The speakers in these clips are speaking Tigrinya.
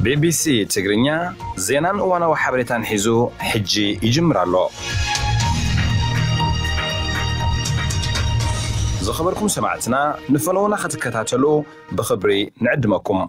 ቢቢሲ ትግርኛ ዜናን እዋናዊ ሓበሬታን ሒዙ ሕጂ ይጅምር ኣሎ። ዝኸበርኩም ሰማዕትና፣ ንፈነውና ክትከታተሉ ብኽብሪ ንዕድመኩም።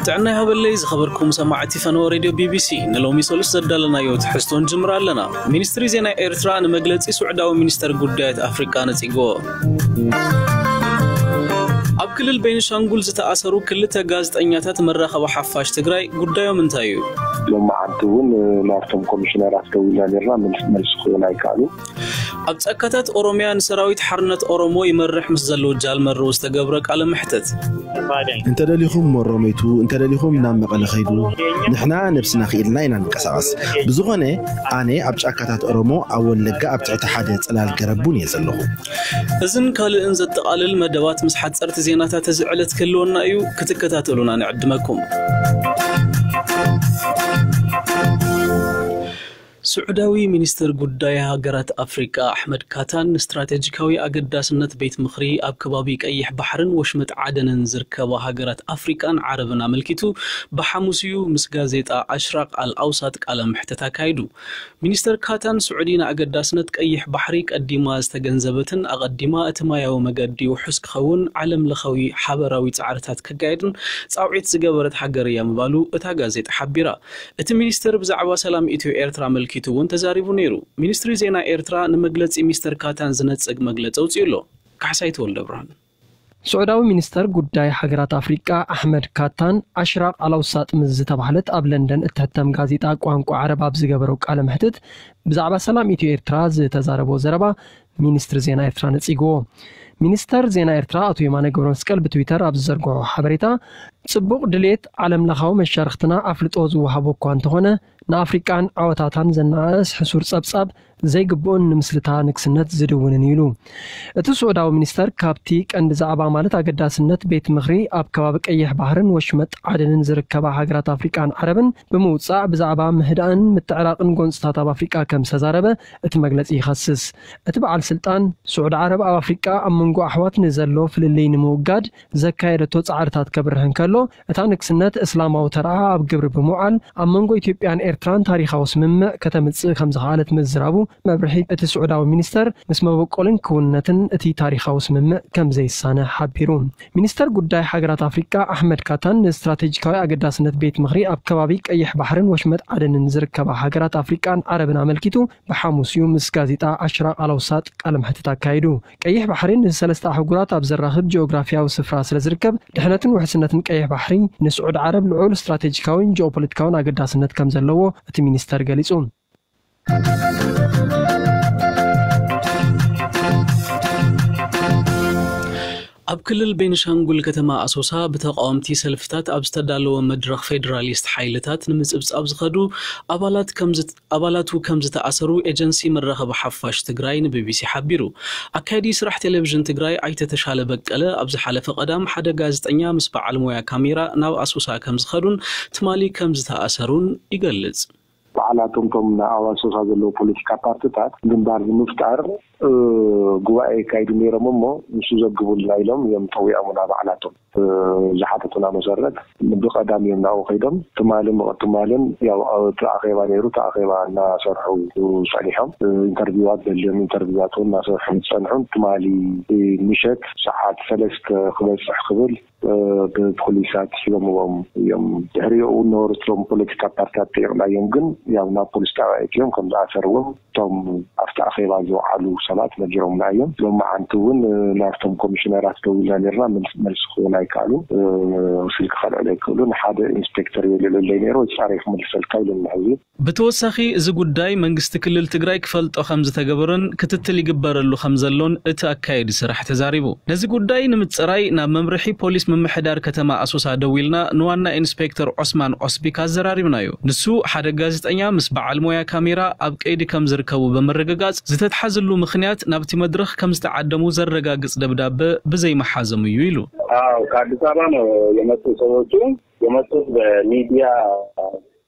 ጥዕና ይሃበለይ ዝኸበርኩም ሰማዕቲ ፈነወ ሬድዮ ቢቢሲ፣ ንሎሚ ሰሉስ ዘዳለናዮ ትሕዝቶ ንጅምር ኣለና። ሚኒስትሪ ዜና ኤርትራ ንመግለጺ ስዑዳዊ ሚኒስተር ጉዳያት ኣፍሪቃ ነጺግዎ። ኣብ ክልል ቤንሻንጉል ዝተኣሰሩ ክልተ ጋዜጠኛታት መራኸቢ ሓፋሽ ትግራይ ጉዳዮም እንታይ እዩ? ሎማዓንቲ እውን ናብቶም ኮሚሽነራት ደዊልና ነርና፣ መልስ ክህቡና ኣይከኣሉ። ኣብ ጫካታት ኦሮምያ ንሰራዊት ሓርነት ኦሮሞ ይመርሕ ምስ ዘለዉ ጃልመሮ ዝተገብረ ቃለ መሕተት። እንተደሊኹም ሞሮመይቱ፣ እንተደሊኹም ናብ መቐለ ኸይዱ፣ ንሕና ነብስና ክኢልና ኢና ንንቀሳቐስ። ብዝኾነ፣ ኣነ ኣብ ጫካታት ኦሮሞ ኣብ ወለጋ ኣብ ትሕቲ ሓደ ጽላል ገረብ እውን እየ ዘለኹ። እዝን ካልእን ዘጠቓልል መደባት ምስ ሓጸርቲ ዜናታት እዚ ዕለት ክህልወና እዩ፣ ክትከታተሉና ንዕድመኩም። ስዑዳዊ ሚኒስትር ጉዳይ ሃገራት ኣፍሪቃ ኣሕመድ ካታን ንስትራቴጂካዊ ኣገዳስነት ቤት ምኽሪ ኣብ ከባቢ ቀይሕ ባሕርን ወሽመጥ ዓደንን ዝርከባ ሃገራት ኣፍሪቃን ዓረብን ኣመልኪቱ ብሓሙስ እዩ ምስ ጋዜጣ ኣሽራቅ ኣል ኣውሳጥ ቃለ መሕተት ኣካይዱ። ሚኒስተር ካታን፣ ስዑዲ ንኣገዳስነት ቀይሕ ባሕሪ ቀዲማ ዝተገንዘበትን ኣቐዲማ እቲ ማያዊ መገዲ ውሑስ ክኸውን ዓለም ለኻዊ ሓበራዊ ጻዕርታት ከካየድን ጻውዒት ዝገበረት ሃገር እያ ምባሉ እታ ጋዜጣ ሓቢራ። እቲ ሚኒስተር ብዛዕባ ሰላም ኢትዮ ኤርትራ ኣመልኪቱ እውን ተዛሪቡ ነይሩ። ሚኒስትሪ ዜና ኤርትራ ንመግለጺ ሚስተር ካታን ዝነጽግ መግለጺ ኣውጺኡ ኣሎ። ካሕሳይ ተወልደ ብርሃን። ስዑዳዊ ሚኒስተር ጉዳይ ሃገራት ኣፍሪቃ ኣሕመድ ካታን ኣሽራቅ ኣላውሳጥ ምስ ዝተባህለት ኣብ ለንደን እትሕተም ጋዜጣ ቋንቋ ዓረብ ኣብ ዝገበረው ቃለ መሕትት ብዛዕባ ሰላም ኢትዮ ኤርትራ ዝተዛረቦ ዘረባ ሚኒስትሪ ዜና ኤርትራ ነጺግዎ። ሚኒስተር ዜና ኤርትራ ኣቶ የማነ ገብረመስቀል ብትዊተር ኣብ ዝዘርግሖ ሓበሬታ፣ ጽቡቕ ድሌት ዓለም ለኻዊ መሻርኽትና ኣፍልጦ ዝወሃቦ እኳ እንተኾነ፣ ንኣፍሪቃን ዓወታታን ዘነኣእስ ሕሱር ጸብጻብ ዘይግብኡን ንምስልታ ንግስነት ዝድውንን እዩ ኢሉ። እቲ ስዑዳዊ ሚኒስተር ካብቲ ቀንዲ ዛዕባ ማለት ኣገዳስነት ቤት ምኽሪ ኣብ ከባቢ ቀይሕ ባሕርን ወሽመጥ ዓደንን ዝርከባ ሃገራት ኣፍሪቃን ዓረብን ብምውጻእ ብዛዕባ ምህዳእን ምትዕራቕን ጎንጽታት ኣብ ኣፍሪቃ ከም ዝተዛረበ እቲ መግለጺ ይኸስስ። እቲ በዓል ስልጣን፣ ስዑዲ ዓረብ ኣብ ኣፍሪቃ ኣብ መንጎ ኣሕዋት ንዘሎ ፍልልይ ንምውጋድ ዘካየደቶ ጻዕርታት ከብርህ እንከሎ፣ እታ ንግስነት እስላማዊ ተርኣ ኣብ ግብሪ ብምውዓል ኣብ መንጎ ኢትዮጵያን ኤርትራን ታሪኻዊ ስምምዕ ከተምጽእ ከም ዝኸኣለት ምዝራቡ መብርሂ እቲ ስዑዳዊ ሚኒስተር ምስ መበቆልን ክውንነትን እቲ ታሪኻዊ ስምምዕ ከም ዘይሳነ ሓቢሩ። ሚኒስተር ጉዳይ ሃገራት ኣፍሪቃ ኣሕመድ ካታን ንስትራቴጂካዊ ኣገዳስነት ቤት ምኽሪ ኣብ ከባቢ ቀይሕ ባሕርን ወሽመጥ ዓደንን ዝርከባ ሃገራት ኣፍሪቃን ዓረብን ኣመልኪቱ ብሓሙስ እዩ ምስ ጋዜጣ ኣሽራቅ ኣላውሳጥ ቃለ መሕትት ኣካይዱ። ቀይሕ ባሕሪ ንሰለስተ ኣህጉራት ኣብ ዘራኽብ ጂኦግራፊያዊ ስፍራ ስለ ዝርከብ፣ ድሕነትን ውሕስነትን ቀይሕ ባሕሪ ንስዑድ ዓረብ ልዑል ስትራቴጂካዊን ጂኦፖለቲካዊን ኣገዳስነት ከም ዘለዎ እቲ ሚኒስተር ገሊጹ። ኣብ ክልል ቤንሻንጉል ከተማ ኣሶሳ ብተቃወምቲ ሰልፍታት ኣብ ዝተዳለወ መድረኽ ፌዴራሊስት ሓይልታት ንምጽብጻብ ዝኸዱ ኣባላት ከም ዝት-፣ ኣባላቱ ከም ዝተኣሰሩ ኤጀንሲ መራኸቢ ሓፋሽ ትግራይ ንቢቢሲ ሓቢሩ። ኣካያዲ ስራሕ ቴሌቪዥን ትግራይ ኣይተ ተሻለ በቀለ ኣብ ዝሓለፈ ቀዳም ሓደ ጋዜጠኛ ምስ በዓል ሞያ ካሜራ ናብ ኣሶሳ ከም ዝኸዱን ትማሊ ከም ዝተኣሰሩን ይገልጽ። በዓላቶም እቶም ኣብ ኣሶሳ ዘለዉ ፖለቲካ ፓርትታት ግንባር ንምፍጣር ጉባኤ የካይዱ ነይሮም እሞ ንሱ ዘግቡልና ኢሎም እዮም ጠዊዖምና በዓላቶም። ዝሓተቱና መሰረት ብቐዳም እዮም ናብኡ ከይዶም። ትማሊ ትማልን ያው እቲ ኣኼባ ነይሩ። እቲ ኣኼባ እናሰርሑ ጸኒሖም። ኢንተርቪዋት ዘድልዮም ኢንተርቪዋት እውን እናሰርሑ ዝጸንሑን ትማሊ ምሸት ሰዓት ሰለስተ ክበጽሕ ክብል ብፖሊሳት ሒዞምዎም እዮም። ድሕሪኡ እነወርቶም ፖለቲካ ፓርቲታት ጠይቕናዮም፣ ግን ያው ናብ ፖሊስ ጣብያ እትዮም ከም ዝኣሰርዎም እቶም ኣብቲ ኣኼባ ዝወዓሉ ሰባት ነጊሮምና እዮም። ሎማዓንቲ እውን ናብቶም ኮሚሽነራት ደዊልና ነርና፣ መልስ ክህቡና ኣይከኣሉን። ስልኪ ከልዕሉ ኣይክእሉን። ሓደ ኢንስፔክተር እዩ ልዕለለይ ነይሩ፣ ወይ ጻረይ ክመልሰልካ ኢሉና ሕዚ። ብተወሳኺ እዚ ጉዳይ መንግስቲ ክልል ትግራይ ክፈልጦ ከም ዝተገበረን ክትትል ይግበረሉ ከም ዘሎን እቲ ኣካየዲ ስራሕ ተዛሪቡ። ነዚ ጉዳይ ንምጽራይ ናብ መምርሒ ፖሊስ ምምሕዳር ከተማ ኣሶሳ ደዊልና ንዋና ኢንስፔክተር ዖስማን ዖስቢካ ኣዘራሪብናዮ። ንሱ ሓደ ጋዜጠኛ ምስ በዓል ሞያ ካሜራ ኣብ ቀይዲ ከም ዝርከቡ ብምርግጋጽ ዝተትሓዝሉ ምኽንያት ናብቲ መድረኽ ከም ዝተዓደሙ ዘረጋግጽ ደብዳበ ብዘይመሓዞም እዩ ኢሉ። አዎ፣ ከአዲስ አበባ ነው የመጡ ሰዎቹ። የመጡት በሚዲያ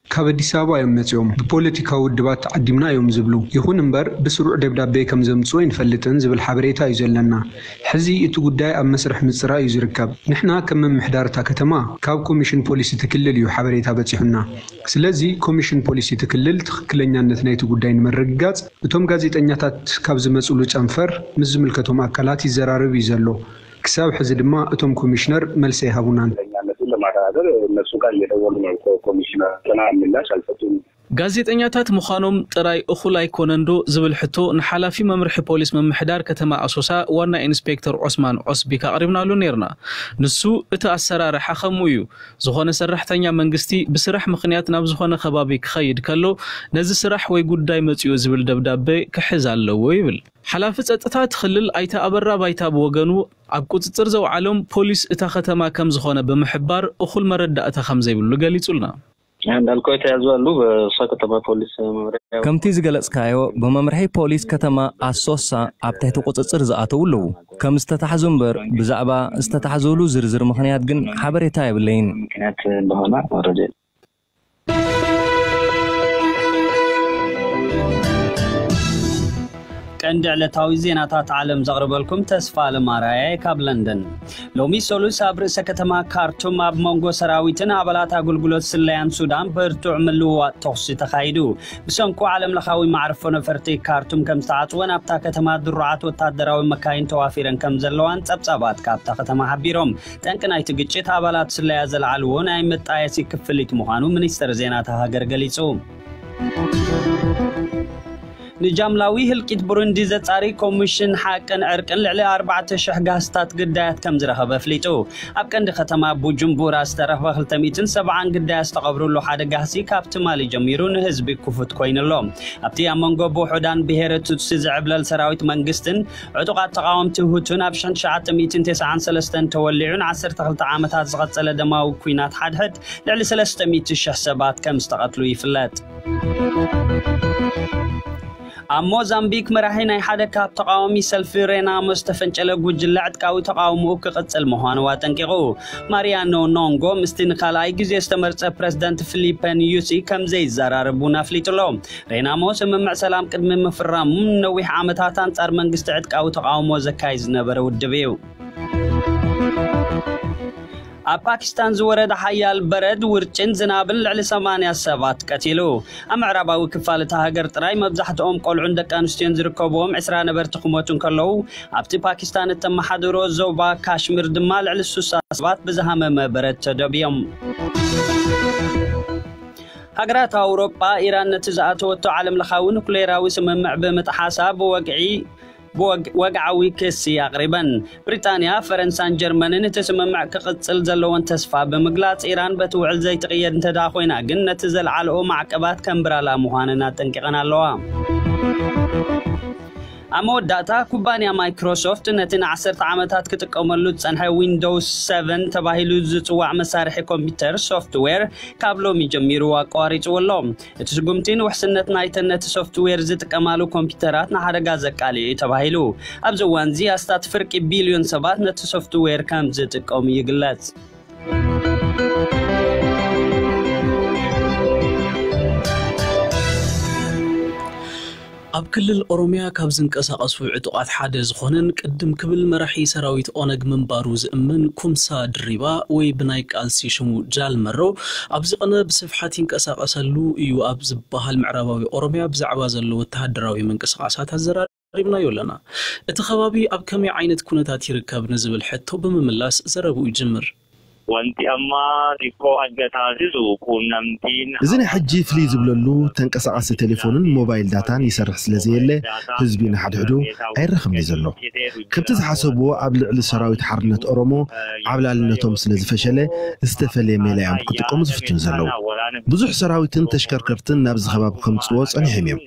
ካብ ኣዲስ ኣበባ እዮም መጺኦም። ብፖለቲካዊ ውድባት ተዓዲምና እዮም ዝብሉ። ይኹን እምበር ብስሩዕ ደብዳቤ ከም ዘምጽኡ ኣይንፈልጥን ዝብል ሓበሬታ እዩ ዘለና። ሕዚ እቲ ጉዳይ ኣብ መስርሕ ምጽራይ እዩ ዝርከብ። ንሕና ከም ምምሕዳር እታ ከተማ ካብ ኮሚሽን ፖሊስ እቲ ክልል እዩ ሓበሬታ በጺሑና። ስለዚ ኮሚሽን ፖሊስ እቲ ክልል ትኽክለኛነት ናይቲ ጉዳይ ንምርግጋጽ እቶም ጋዜጠኛታት ካብ ዝመጽሉ ጨንፈር ምስ ዝምልከቶም ኣካላት ይዘራረብ እዩ ዘሎ። ክሳብ ሕዚ ድማ እቶም ኮሚሽነር መልሲ ኣይሃቡናን። ለማረጋገጥ እነሱ ጋር እየደወሉ ነው። ኮሚሽነር ገና ምላሽ አልሰጡም። ጋዜጠኛታት ምዃኖም ጥራይ እኹል ኣይኮነንዶ ዝብል ሕቶ ንሓላፊ መምርሒ ፖሊስ ምምሕዳር ከተማ ኣሶሳ ዋና ኢንስፔክተር ዑስማን ዑስቢክ ኣቕሪብናሉ ነይርና። ንሱ እቲ ኣሰራርሓ ከምኡ እዩ። ዝኾነ ሰራሕተኛ መንግስቲ ብስራሕ ምኽንያት ናብ ዝኾነ ከባቢ ክኸይድ ከሎ ነዚ ስራሕ ወይ ጉዳይ መጺኡ ዝብል ደብዳቤ ክሕዝ ኣለዎ ይብል። ሓላፊ ጸጥታ እቲ ክልል ኣይተ ኣበራ ባይታ ብወገኑ ኣብ ቁጽጽር ዘውዓሎም ፖሊስ እታ ከተማ ከም ዝኾነ ብምሕባር እኹል መረዳእታ ከም ዘይብሉ ገሊጹልና። እንዳልከው የተያዙ አሉ። በእሷ ከተማ ፖሊስ መምሪያ ከምቲ ዝገለጽካዮ ብመምርሒ ፖሊስ ከተማ ኣሶሳ ኣብ ትሕቲ ቁጽጽር ዝኣተው ኣለዉ። ከም ዝተታሕዙ እምበር ብዛዕባ ዝተታሕዘሉ ዝርዝር ምኽንያት ግን ሓበሬታ የብለይን። ምክንያት እንደሆነ መረጃ የለም። ቀንዲ ዕለታዊ ዜናታት ዓለም ዘቕርበልኩም ተስፋ ኣለማርያየ ካብ ለንደን። ሎሚ ሰሉስ ኣብ ርእሰ ከተማ ካርቱም ኣብ መንጎ ሰራዊትን ኣባላት ኣገልግሎት ስለያን ሱዳን ብርቱዕ ምልውዋጥ ተኹሲ ተኻይዱ። ብሰንኩ ዓለም ለኻዊ መዕርፎ ነፈርቲ ካርቱም ከም ዝተዓጽወን ኣብታ ከተማ ድሩዓት ወታደራዊ መካይን ተዋፊረን ከም ዘለዋን ጸብጻባት ካብታ ከተማ ሓቢሮም። ጠንቂ ናይቲ ግጭት ኣባላት ስለያ ዘልዓልዎ ናይ መጣየሲ ክፍሊት ምዃኑ ሚኒስተር ዜና እታ ሃገር ገሊጹ። ንጃምላዊ ህልቂት ብሩንዲ ዘጻሪ ኮሚሽን ሓቅን ዕርቅን ልዕሊ ኣርባዕተ ሽሕ ጋህስታት ግዳያት ከም ዝረኸበ ኣፍሊጡ። ኣብ ቀንዲ ከተማ ቡጁምቡራ ዝተረኽበ ክልተ ሚእትን ሰብዓን ግዳያት ዝተቐብሩሉ ሓደ ጋህሲ ካብ ትማሊ ጀሚሩ ንህዝቢ ክፉት ኮይኑ ኣሎ። ኣብቲ ኣብ መንጎ ብውሑዳን ብሄረ ቱትሲ ዝዕብለል ሰራዊት መንግስትን ዕጡቓት ተቓወምቲ ሁቱን ኣብ ሽሕን ትሽዓተ ሚእትን ተስዓን ሰለስተን ተወሊዑ ንዓሰርተ ክልተ ዓመታት ዝቐጸለ ደማዊ ኲናት ሓድሕድ ልዕሊ ሰለስተ ሚእቲ ሽሕ ሰባት ከም ዝተቐትሉ ይፍለጥ። ኣብ ሞዛምቢክ መራሒ ናይ ሓደ ካብ ተቓዋሚ ሰልፊ ሬናሞ ዝተፈንጨለ ጉጅለ ዕጥቃዊ ተቓውሞኡ ክቕጽል ምዃኑ ኣጠንቂቑ። ማሪያኖ ኖንጎ ምስቲ ንኻልኣይ ግዜ ዝተመርጸ ፕረዚደንት ፊሊፐ ኒዩሲ ከም ዘይዘራረብ እውን ኣፍሊጡ ኣሎ። ሬናሞ ስምምዕ ሰላም ቅድሚ ምፍራሙ ንነዊሕ ዓመታት ኣንጻር መንግስቲ ዕጥቃዊ ተቓውሞ ዘካይድ ዝነበረ ውድብ እዩ። ኣብ ፓኪስታን ዝወረደ ሓያል በረድ፣ ውርጭን ዝናብን ልዕሊ ሰማንያ ሰባት ቀቲሉ። ኣብ ምዕራባዊ ክፋል እታ ሃገር ጥራይ መብዛሕትኦም ቆልዑን ደቂ ኣንስትዮን ዝርከብዎም ዕስራ ነበርቲ ክሞቱ እንከለዉ፣ ኣብቲ ፓኪስታን እተመሓድሮ ዞባ ካሽሚር ድማ ልዕሊ ስሳ ሰባት ብዝሃመመ በረድ ተደብዮም። ሃገራት ኣውሮጳ፣ ኢራን ነቲ ዝኣተወቶ ዓለምለኻዊ ኑክሌራዊ ስምምዕ ብምጥሓሳ ብወግዒ ብወግ-፣ ወግዓዊ ክሲ ኣቕሪበን። ብሪጣንያ፣ ፈረንሳን ጀርመንን እቲ ስምምዕ ክቕጽል ዘለወን ተስፋ ብምግላጽ፣ ኢራን በቲ ውዕል ዘይትቕየድ እንተ ደኣ ኮይና ግን ነቲ ዘልዓልኦ ማዕቀባት ከንብራላ ምዃነን ኣጠንቂቐን ኣለዋ። ኣብ መወዳእታ፣ ኩባንያ ማይክሮሶፍት ነቲ ንዓሰርተ ዓመታት ክጥቀመሉ ዝጸንሐ ዊንዶውስ ሰቨን ተባሂሉ ዝጽዋዕ መሳርሒ ኮምፒውተር ሶፍትዌር ካብ ሎሚ ጀሚሩ ኣቋሪጽዎ ኣሎ። እቲ ስጉምቲ ንውሕስነት ናይተን ነቲ ሶፍትዌር ዝጥቀማሉ ኮምፒውተራት ንሓደጋ ዘቃልዕ እዩ ተባሂሉ። ኣብዚ እዋንዚ ኣስታት ፍርቂ ቢልዮን ሰባት ነቲ ሶፍትዌር ከም ዝጥቀሙ ይግለጽ። ኣብ ክልል ኦሮሚያ ካብ ዝንቀሳቐሱ ዕጡቓት ሓደ ዝኾነን ቅድም ክብል መራሒ ሰራዊት ኦነግ ምንባሩ ዝእመን ኩምሳ ድሪባ ወይ ብናይ ቃልሲ ሽሙ ጃል መሮ ኣብዚ ቕነ ብስፍሓት ይንቀሳቐሰሉ እዩ ኣብ ዝበሃል ምዕራባዊ ኦሮሚያ ብዛዕባ ዘሎ ወተሃደራዊ ምንቅስቓሳት ኣዘራሪብናዮ ኣለና። እቲ ከባቢ ኣብ ከመይ ዓይነት ኩነታት ይርከብ ንዝብል ሕቶ ብምምላስ ዘረብኡ ይጅምር። Wanti amma xiqqoo adda taasisu quunnamtiin እዚ ናይ ሕጂ ፍልይ ዝብለሉ ተንቀሳቓሲ ቴሌፎንን ሞባይል ዳታን ይሰርሕ ስለ ዘየለ ህዝቢ ንሓድሕዱ ኣይራኸብን እዩ ዘሎ። ከምቲ ዝሓሰብዎ ኣብ ልዕሊ ሰራዊት ሓርነት ኦሮሞ ዓብላልነቶም ስለ ዝፈሸለ ዝተፈለየ ሜላ እዮም ክጥቀሙ ዝፍትኑ ዘለዉ። ብዙሕ ሰራዊትን ተሽከርከርትን ናብዚ ከባቢ ከምጽዎ ጸኒሖም እዮም።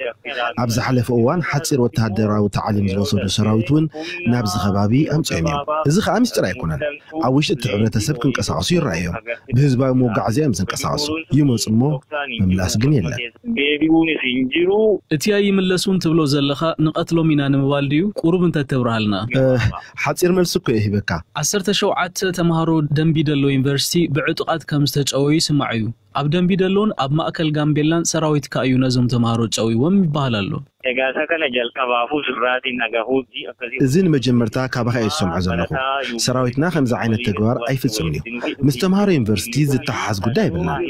ኣብ ዝሓለፈ እዋን ሓጺር ወተሃደራዊ ታዕሊም ዝወሰዱ ሰራዊት እውን ናብዚ ከባቢ ኣምጺኦም እዮም። እዚ ከኣ ምስጢር ኣይኮነን። ኣብ ውሽጢ እቲ ሕብረተሰብ ክንቀሳቐስ ክንቀሳቐሱ ይረኣዮም። ብህዝባዊ መጓዓዝያ እዮም ዝንቀሳቐሱ። ይመፁ እሞ ምምላስ ግን የለን። እቲ ኣይምለሱን ትብሎ ዘለኻ ንቐትሎም ኢና ንምባል ድዩ? ቁሩብ እንተተብርሃልና። ሓፂር መልሲ እኮ ይህበካ። ዓሰርተ ሸውዓተ ተምሃሮ ደምቢ ደሎ ዩኒቨርሲቲ ብዕጡቓት ከም ዝተጨወዩ ይስማዕ እዩ። ኣብ ደምቢ ደሎን ኣብ ማእከል ጋምቤላን ሰራዊትካ እዩ ነዞም ተምሃሮ ጨዊዎም ይበሃል ኣሎ። Egaa isa kana jalqabaafuu sirraatiin dhagahuutti akkasii እዚ ንመጀመርታ ካባኻ እየ ዝሰምዖ ዘለኹ። ሰራዊትና ከምዚ ዓይነት ተግባር ኣይፍጽምን እዩ። ምስ ተምሃሮ ዩኒቨርሲቲ ዝተሓሓዝ ጉዳይ የብልናን።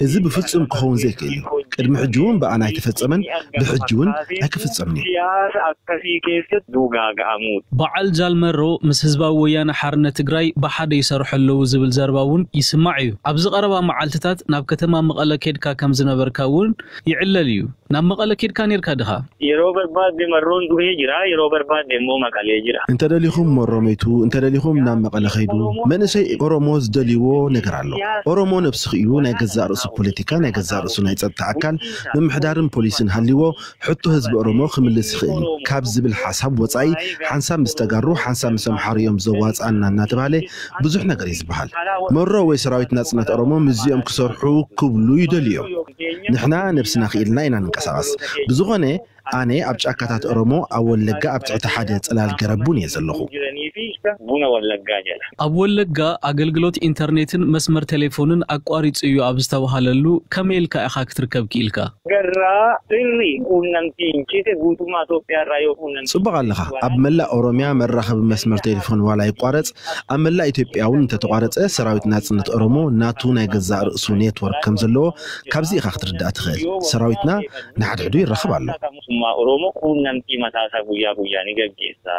እዚ ብፍጹም ክኸውን ዘይክእል እዩ። ቅድሚ ሕጂ እውን ብኣና ኣይተፈጸመን፣ ብሕጂ እውን ኣይክፍጸምን እዩ። siyaasa akkasii keessatti dugaaga'amuuti. በዓል ጃልመሮ ምስ ህዝባዊ ወያነ ሓርነት ትግራይ ብሓደ ይሰርሑ ኣለዉ ዝብል ዘረባ እውን ይስማዕ እዩ። ኣብዚ ቀረባ መዓልትታት ናብ ከተማ መቐለ ኬድካ ከም ዝነበርካ እውን ይዕለል እዩ። ናብ መቐለ ኬድካ ነርካ ድኻ? Yeroo barbaadde marroon du'ee jira, yeroo barbaadde immoo maqalee jira. እንተደሊኹም መሮ መይቱ፣ እንተደሊኹም ናብ መቐለ ኸይዱ። መንእሰይ ኦሮሞ ዝደልይዎ ነገር ኣሎ። ኦሮሞ ነብሱ ክኢሉ ናይ ገዛእ ርእሱ ፖለቲካ፣ ናይ ገዛእ ርእሱ ናይ ጸጥታ ኣካል ምምሕዳርን ፖሊስን ሃልይዎ ሕቶ ህዝቢ ኦሮሞ ክምልስ ይኽእል እዩ ካብ ዝብል ሓሳብ ወጻኢ ሓንሳብ ምስ ተጋሩ ሓንሳብ ምስ ኣምሓሩ እዮም ዘዋጽኣና እናተባህለ ብዙሕ ነገር እዩ ዝበሃል። መሮ ወይ ሰራዊት ናጽነት ኦሮሞ ምስዚኦም ክሰርሑ ክብሉ ይደልዩ እዮም። ንሕና ነብስና ክኢልና ኢና ንንቀሳቐስ። ብዝኾነ ኣነ ኣብ ጫካታት ኦሮሞ ኣብ ወለጋ ኣብ ትሕቲ ሓደ ጽላል ገረብ ቡን እየ ዘለኹ። Buna wallaggaa jedha. ኣብ ወለጋ ኣገልግሎት ኢንተርኔትን መስመር ቴሌፎንን ኣቋሪጹ እዩ ኣብ ዝተባሃለሉ ከመይ ኢልካ ኢኻ ክትርከብ ክኢልካ? Garraa sirri quunnamtiin cite guutummaa Itoophiyaa irraa yoo quunnamtiin ጽቡቕ ኣለኻ። ኣብ መላእ ኦሮምያ መራኸቢ መስመር ቴሌፎን ዋላ ይቋረጽ፣ ኣብ መላእ ኢትዮጵያ እውን እንተተቋረጸ ሰራዊት ናጽነት ኦሮሞ ናቱ ናይ ገዛእ ርእሱ ኔትወርክ ከም ዘለዎ ካብዚ ኢኻ ክትርዳእ ትኽእል። ሰራዊትና ንሓድሕዱ ይራኸብ ኣሎ። Mootummaa Oromoo quunnamtii mataasaa guyyaa guyyaa ni gaggeessa.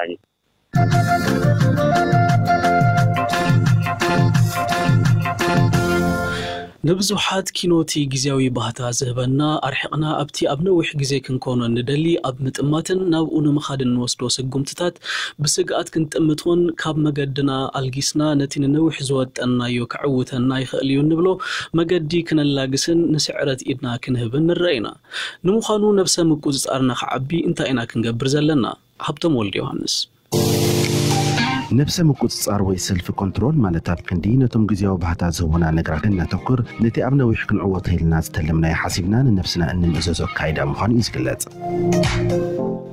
ንብዙሓት ኪኖ እቲ ግዜያዊ ባህታ ዝህበና ኣርሒቕና ኣብቲ ኣብ ነዊሕ ግዜ ክንኮኖ እንደሊ ኣብ ምጥማትን ናብኡ ንምኻድን እንወስዶ ስጉምትታት ብስግኣት ክንጥምት እውን ካብ መገድና ኣልጊስና ነቲ ንነዊሕ ዝወጠንናዮ ከዕውተና ይኽእል እዩ እንብሎ መገዲ ክነላግስን ንስዕረት ኢድና ክንህብን ንረአ ኢና። ንምዃኑ ነብሰ ምቁጽጻርና ክዓቢ እንታይ ኢና ክንገብር ዘለና? ሃብቶም ወልደ ዮሃንስ። ነብሰ ምቁጽጻር ወይ ሰልፍ ኮንትሮል ማለት ኣብ ክንዲ ነቶም ግዜያዊ ባህታ ዝህቡና ነገራት እነተኩር ነቲ ኣብ ነዊሕ ክንዕወቶ ኢልና ዝተለምናዮ ሓሲብና ንነብስና እንምእዘዞ ኣካይዳ ምዃኑ እዩ ዝግለጽ።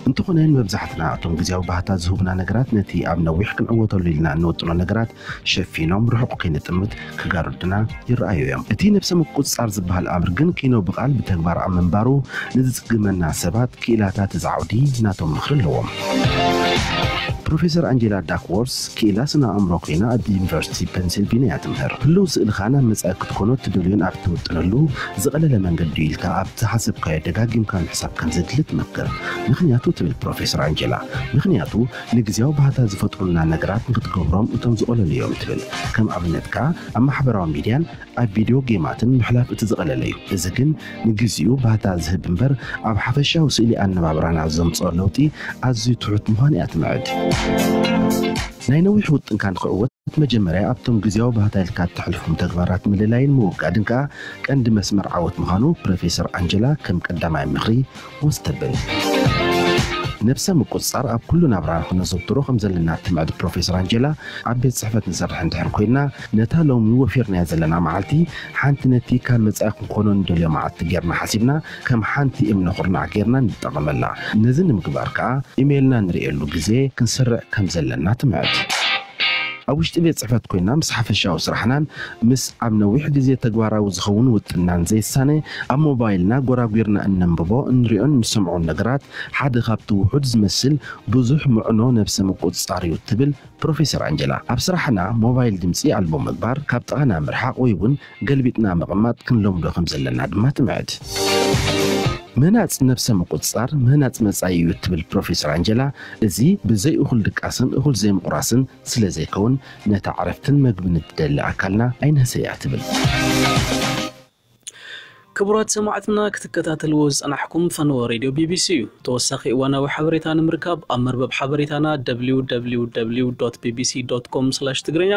እንተኾነ ንመብዛሕትና እቶም ግዜያዊ ባህታ ዝህቡና ነገራት ነቲ ኣብ ነዊሕ ክንዕወተሉ ኢልና እንወጥኖ ነገራት ሸፊኖም ርሑቕ ከይንጥምት ክጋርዱና ይረኣዩ እዮም። እቲ ነብሰ ምቁጽጻር ዝበሃል ኣምር ግን ኪኖ ብቓል ብተግባር ኣብ ምንባሩ ንዝጽግመና ሰባት ክኢላታት እዚ ዓውዲ ናቶም ምኽሪ ኣለዎም። ፕሮፌሰር ኣንጀላ ዳክዎርስ ክኢላ ስነ ኣእምሮ ኮይና ኣብ ዩኒቨርሲቲ ፔንሲልቪንያ ትምህር። ህልው ስእልኻ ናብ መጻኢ ክትኮኖ እትደልዮን ኣብ እትውጥነሉ ዝቐለለ መንገዲ ኢልካ ኣብ ዝሓሰብካዮ ደጋጊምካ ምሕሳብ ከም ዘድሊ ትመክር። ምኽንያቱ ትብል ፕሮፌሰር ኣንጀላ፣ ምኽንያቱ ንግዜያዊ ባህታ ዝፈጥሩልና ነገራት ንክትገብሮም እቶም ዝቐለሉ እዮም ትብል። ከም ኣብነት ከኣ ኣብ ማሕበራዊ ሚድያን ኣብ ቪድዮ ጌማትን ምሕላፍ እቲ ዝቐለለ እዩ። እዚ ግን ንግዚኡ ባህታ ዝህብ እምበር ኣብ ሓፈሻዊ ስእሊ ኣነባብራና ዘምጽኦ ለውጢ ኣዝዩ ትሑት ምዃኑ እያ ትምዕድ። ናይ ነዊሕ ውጥንካ ንክዕወት መጀመርያ ኣብቶም ግዜያዊ ባህታ ኢልካ እተሕልፎም ተግባራት ምልላይን ምውጋድን ከኣ ቀንዲ መስመር ዓወት ምዃኑ ፕሮፌሰር ኣንጀላ ከም ቀዳማይ ምኽሪ ወስ ተብል። ነብሰ ምቁጽጻር ኣብ ኩሉ ናብራና ክነዘውትሮ ከም ዘለና እትምዕድ ፕሮፌሰር ኣንጀላ፣ ኣብ ቤት ጽሕፈት ንሰርሕ እንድሕር ኮይንና፣ ነታ ሎሚ ወፊርናያ ዘለና መዓልቲ ሓንቲ ነቲ ካብ መጻኢ ክንኮኖ ንደልዮ መዓልቲ ጌርና ሓሲብና፣ ከም ሓንቲ እምነ ኩርናዕ ጌርና ንጠቐመላ። ነዚ ንምግባር ከኣ ኢሜይልና ንርእየሉ ግዜ ክንስርዕ ከም ዘለና ትምዕድ። ኣብ ውሽጢ ቤት ጽሕፈት ኮይና ምስ ሓፈሻዊ ስራሕናን ምስ ኣብ ነዊሕ ግዜ ተግባራዊ ዝኸውን ውጥናን ዘይሳነ ኣብ ሞባይልና ጎራጒርና እነንብቦ፣ እንሪኦን እንሰምዖን ነገራት ሓደ ካብቲ ውሑድ ዝመስል ብዙሕ ምዕኖ ነብሰ ምቁጽጻር እዩ ትብል ፕሮፌሰር ኣንጀላ። ኣብ ስራሕና ሞባይል ድምጺ ኣልቦ ምግባር፣ ካብ ጥቓና ምርሓቕ ወይ እውን ገልቢጥና ምቕማጥ ክንለምዶ ከም ዘለና ድማ ትምዕድ። ምህናጽ ነብሰ ምቁጽጻር ምህናጽ መጻኢ እዩ እትብል ፕሮፌሰር ኣንጀላ፣ እዚ ብዘይ እኹል ድቃስን እኹል ዘይምቑራስን ስለ ዘይከውን ነታ ዕረፍትን መግብን እትደሊ ኣካልና ኣይንህሰያ ትብል። ክቡራት ሰማዕትና ክትከታተልዎ ዝጸናሕኩም ፈነወ ሬድዮ ቢቢሲ እዩ። ተወሳኺ እዋናዊ ሓበሬታ ንምርካብ ኣብ መርበብ ሓበሬታና ደብሊው ደብሊው ደብሊው ዶት ቢቢሲ ዶት ኮም ስላሽ ትግርኛ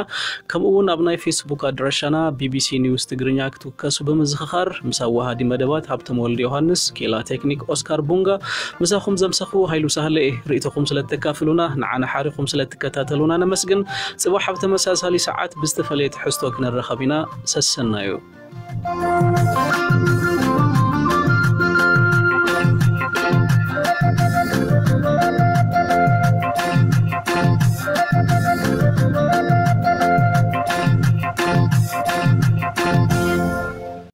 ከምኡ እውን ኣብ ናይ ፌስቡክ ኣድራሻና ቢቢሲ ኒውስ ትግርኛ ክትውከሱ ብምዝኽኻር ምስ ኣዋሃዲ መደባት ሃብቶም ወልደ ዮሃንስ፣ ኬላ ቴክኒክ ኦስካር ቡንጋ፣ ምሳኹም ዘምሰኹ ሃይሉ ሳህለ እየ። ርእይቶኹም ስለ እተካፍሉና ንዓና ሓሪኹም ስለ እትከታተሉና ነመስግን። ጽባሕ ኣብ ተመሳሳሊ ሰዓት ብዝተፈለየ ትሕዝቶ ክንረኸብ ኢና። ሰሰናዩ።